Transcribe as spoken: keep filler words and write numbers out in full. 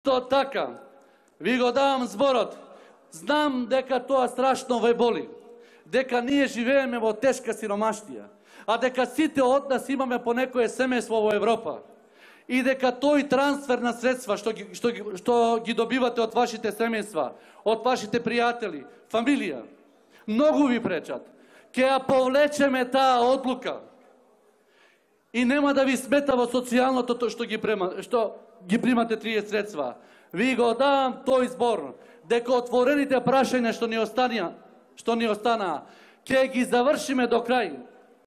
Исто така, ви го давам зборот. Знам дека тоа страшно ве боли, дека ние живееме во тешка сиромаштија, а дека сите од нас имаме по некое семејство во Европа и дека тој трансфер на средства што ги, што, ги, што ги добивате од вашите семејства, од вашите пријатели, фамилија, многу ви пречат. Ке ја повлечеме таа одлука и нема да ви смета во социјалното тоа што ги према, што ги примате тие средства. Ви го давам тој збор, дека отворените прашања што ни останаа, што ни останаа, ќе ги завршиме до крај.